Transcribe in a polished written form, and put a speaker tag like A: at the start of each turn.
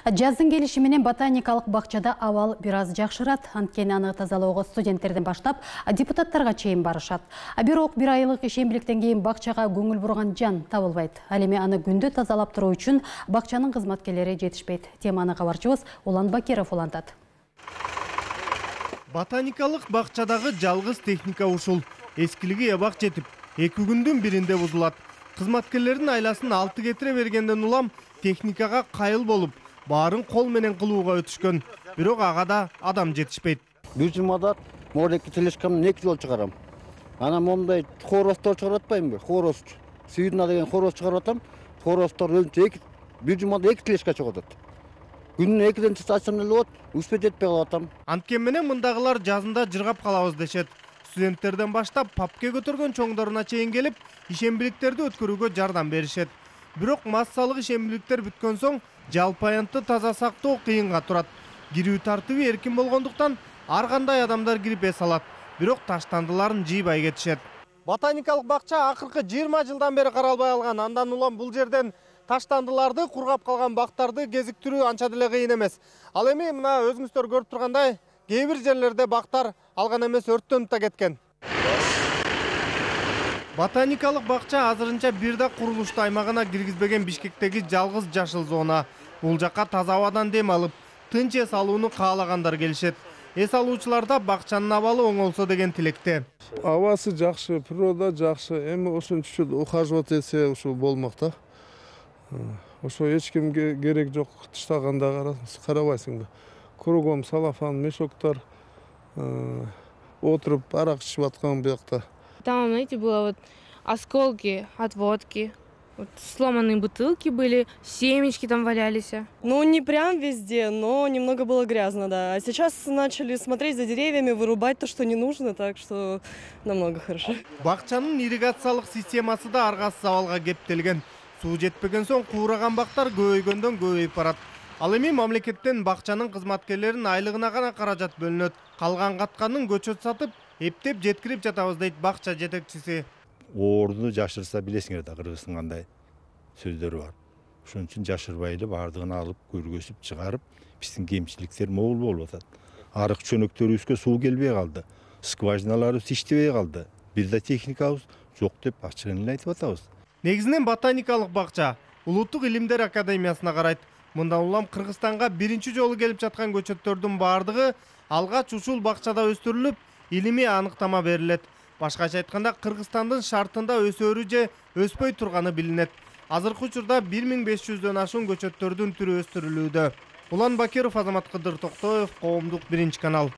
A: Жаздын келиши менен ботаникалык бакчада абал бир аз жакшырат. Анткени аны тазалоого студенттерден баштап депутаттарга чейин барышат. Бирок бир айлык ишембиликтен кийин бакчага көңүл бурган жан табылбайт. Ал эми аны күндө тазалап туруу үчүн бакчанын кызматкерлери жетишпейт. Теманы кабарчыбыз Улан Бакиров улантат.
B: Ботаникалык бакчадагы жалгыз техника ушул. Эскилиги эбак жетип, 2 күндүн биринде бузулат. Кызматкерлердин айласын 6 кетире бергенден улам техникага кайыл болуп, баарын кол менен кылууга өтүшкөн. Бирок ага да адам жетишпейт.
C: Бир жумада молеки телешкамды 2 жол чыгарам. Анан момундай хоростор чыгарып атпаймынбы? Хороз. Сүйүрна деген хороз чыгарып атам. Хоростор өлчө бир жумада 2 телешка чыгып атат. Күнүнө 2ден чыксам эле болот, успет этпей калып атам.
B: Анткени менен мындагылар жазында жыргап калабыз дешет. Студенттерден баштап папке көтөргөн чоңдоруна чейин келип, ишембиликтерди өткөрүүгө жардам беришет. Бирок массалык ишембиликтер бүткөн соң жалпы аянтты таза сактоо кыйынга турат. Кирүү тартыбы эркин болгондуктан ар кандай адамдар кирип эс алат. Бирок таштандыларын жыйбай кетишет. Ботаникалык бакча акыркы 20 жылдан бери каралбай алган. Андан улам бул жерден таштандыларды, кургап калган бактарды кезиктирүү анча деле кыйын эмес. Ал эми мына өзүңүздөр көрүп тургандай, кээ бир жерлерде бактар алган эмес өрттөнүп да кеткен. Ботаникалык бакча азырынча бир да курулушту аймагына киргизбеген Бишкектеги жалгыз жашыл зона. Бул жакка таза абадан дем алып, тынч эс алууну каалагандар келишет. Эс алуучуларда бакчанын абалы оңолсо деген тилекте.
D: Абасы жакшы, природа жакшы. Эми ошончо ухаживать этсе ушул болмок да. Ошо эч кимге керек жок, тыштаганда карабайсың да. Кругом салафан, мешоктор, отуруп арак ичип аткан буякта.
E: Там, знаете, было вот осколки от водки, вот сломанные бутылки были, семечки там валялись.
F: Ну, не прям везде, но немного было грязно, да. А сейчас начали смотреть за деревьями, вырубать то, что не нужно, так что намного хорошо.
B: Бакчанын ирригациялык системасы да аргасыз абалга кептелген. Суу жетпеген соң куураган бактар көбөйгөндөн көбөйүп барат. Ал эми мамлекеттен бакчанын кызматкерлеринин айлыгына гана каражат бөлүнөт. Калган катканын көчөт сатып, эптеп жеткирип жатабыз дейт бакча жетекчиси.
G: Орду жашырса билесиңер да кыргыздын кандай сөздөрү бар. Ошон үчүн жашырбай эле баардыгын алып, көргөзүп чыгарып, биздин кемчиликтер могул болуп атат. Арык чөнөктөрүбүзгө суу келбей калды. Скважиналарыбыз иштебей калды. Бир да техникабыз жок деп ачыгын эле айтып атабыз.
B: Негизинен ботаникалык бакча Улуттук илимдер академиясына карайт. Мындан улам Кыргызстанга биринчи жолу келип жаткан көчөттөрдүн баардыгы алгач ушул бакчада өстүрүлүп, илимий аныктама берилет. Башкача айтканда, Кыргызстандын шартында өсөрү же өспөй турганы билинет. Азыркы учурда 1500дөн ашуун көчөттөрдүн түрү өстүрүлүүдө. Улан Бакиров, Азамат Кыдыр Токтоев, Коомдук 1 канал.